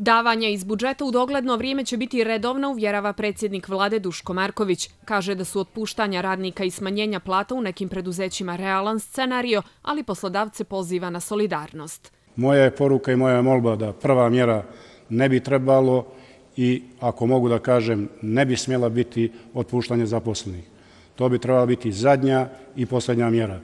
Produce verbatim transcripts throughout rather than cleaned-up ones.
Davanja iz budžeta u dogledno vrijeme će biti redovna, uvjerava predsjednik vlade Duško Marković. Kaže da su otpuštanja radnika i smanjenja plata u nekim preduzećima realan scenario, ali poslodavce poziva na solidarnost. Moja je poruka i moja je molba da prva mjera ne bi trebalo i, ako mogu da kažem, ne bi smjela biti otpuštanje zaposlenih. To bi trebala biti zadnja i posljednja mjera.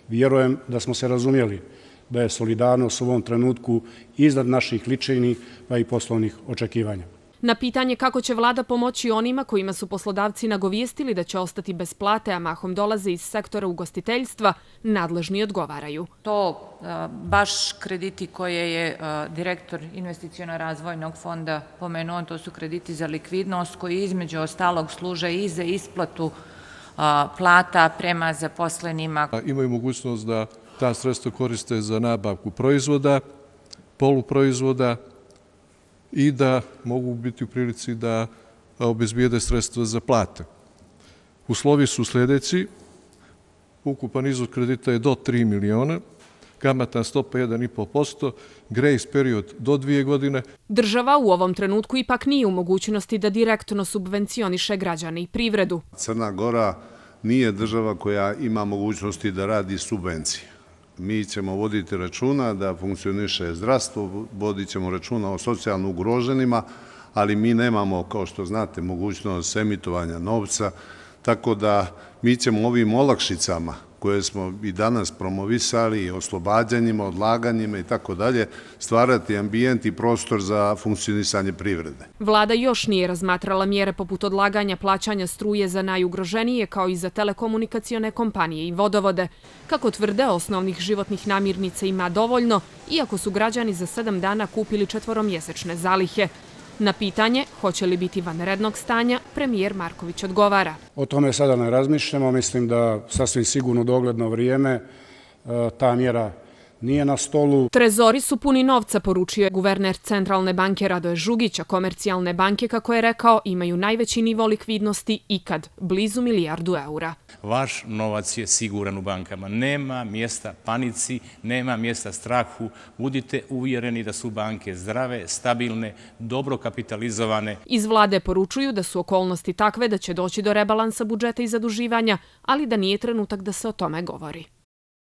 Vjerujem da smo se razumjeli da je solidarnost u ovom trenutku iznad naših ličnih pa i poslovnih očekivanja. Na pitanje kako će vlada pomoći onima kojima su poslodavci nagovijestili da će ostati bez plate, a mahom dolaze iz sektora ugostiteljstva, nadležni odgovaraju. To baš krediti koje je direktor investiciono-razvojnog fonda pomenuo, to su krediti za likvidnost koji između ostalog služe i za isplatu plata prema zaposlenima. Imaju mogućnost da ta sredstva koriste za nabavku proizvoda, poluproizvoda i da mogu biti u prilici da obezbijede sredstva za plate. Uslovi su sljedeći. Ukupan iznos kredita je do tri miliona, kamatna stopa jedan i po posto, grejs period do dvije godine. Država u ovom trenutku ipak nije u mogućnosti da direktno subvencioniše građane i privredu. Crna Gora nije država koja ima mogućnosti da radi subvencije. Mi ćemo voditi računa da funkcioniše zdravstvo, vodit ćemo računa o socijalno ugroženima, ali mi nemamo, kao što znate, mogućnost emitovanja novca, tako da mi ćemo ovim olakšicama koje smo i danas promovisali, oslobađanjima, odlaganjima i tako dalje, stvarati ambijent i prostor za funkcionisanje privrede. Vlada još nije razmatrala mjere poput odlaganja plaćanja struje za najugroženije, kao i za telekomunikacione kompanije i vodovode. Kako tvrde, osnovnih životnih namirnica ima dovoljno, iako su građani za sedam dana kupili četvoromjesečne zalihe. Na pitanje hoće li biti vanrednog stanja, premijer Marković odgovara. O tome sada ne razmišljamo, mislim da sasvim sigurno dogledno vrijeme ta mjera nije na stolu. Trezori su puni novca, poručio je guverner Centralne banke Radoje Žugić, a komercijalne banke, kako je rekao, imaju najveći nivo likvidnosti ikad, blizu milijardu eura. Vaš novac je siguran u bankama. Nema mjesta panici, nema mjesta strahu. Budite uvjereni da su banke zdrave, stabilne, dobro kapitalizovane. Iz vlade poručuju da su okolnosti takve da će doći do rebalansa budžeta i zaduživanja, ali da nije trenutak da se o tome govori.